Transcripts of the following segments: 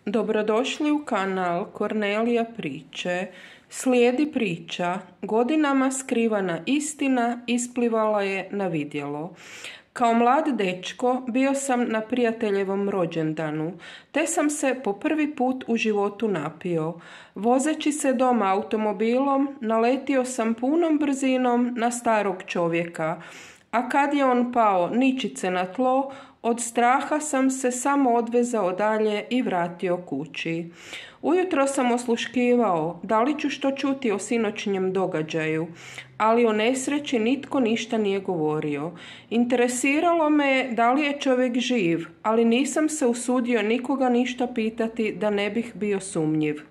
Dobrodošli u kanal Kornelija priče. Slijedi priča. Godinama skrivana istina isplivala je na vidjelo. Kao mlad dečko bio sam na prijateljevom rođendanu, te sam se po prvi put u životu napio. Vozeći se doma automobilom, naletio sam punom brzinom na starog čovjeka, a kad je on pao ničice na tlo, od straha sam se samo odvezao dalje i vratio kući. Ujutro sam osluškivao da li ću što čuti o sinoćnjem događaju, ali o nesreći nitko ništa nije govorio. Interesiralo me je da li je čovjek živ, ali nisam se usudio nikoga ništa pitati da ne bih bio sumnjiv.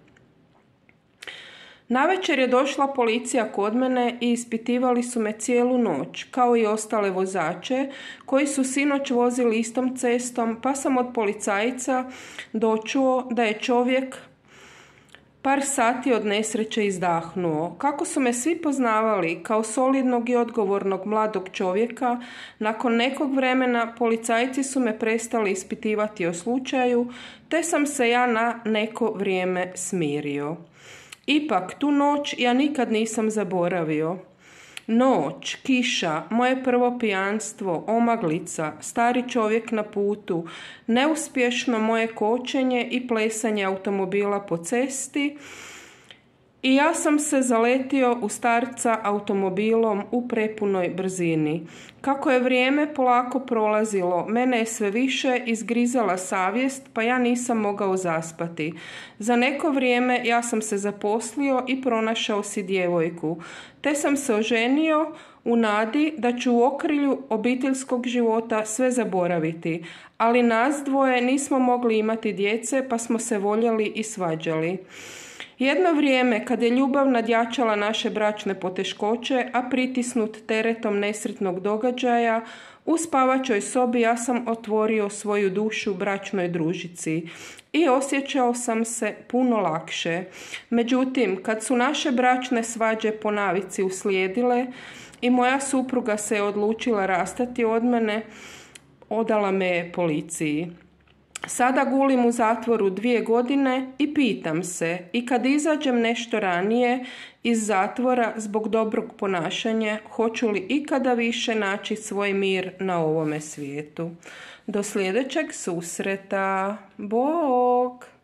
Navečer je došla policija kod mene i ispitivali su me cijelu noć, kao i ostale vozače koji su sinoć vozili istom cestom, pa sam od policajca dočuo da je čovjek par sati od nesreće izdahnuo. Kako su me svi poznavali kao solidnog i odgovornog mladog čovjeka, nakon nekog vremena policajci su me prestali ispitivati o slučaju, te sam se ja na neko vrijeme smirio. Ipak, tu noć ja nikad nisam zaboravio. Noć, kiša, moje prvo pijanstvo, omaglica, stari čovjek na putu, neuspješno moje kočenje i plesanje automobila po cesti i ja sam se zaletio u starca automobilom u prepunoj brzini. Kako je vrijeme polako prolazilo, mene je sve više izgrizala savjest, pa ja nisam mogao zaspati. Za neko vrijeme ja sam se zaposlio i pronašao si djevojku, te sam se oženio u nadi da ću u okrilju obiteljskog života sve zaboraviti, ali nas dvoje nismo mogli imati djece, pa smo se voljeli i svađali. Jedno vrijeme, kad je ljubav nadjačala naše bračne poteškoće, a pritisnut teretom nesretnog događaja, u spavačoj sobi ja sam otvorio svoju dušu bračnoj družici i osjećao sam se puno lakše. Međutim, kad su naše bračne svađe po navici uslijedile i moja supruga se je odlučila rastati od mene, odala me je policiji. Sada gulim u zatvoru 2 godine i pitam se, i kad izađem nešto ranije iz zatvora zbog dobrog ponašanja, hoću li ikada više naći svoj mir na ovome svijetu. Do sljedećeg susreta. Bog!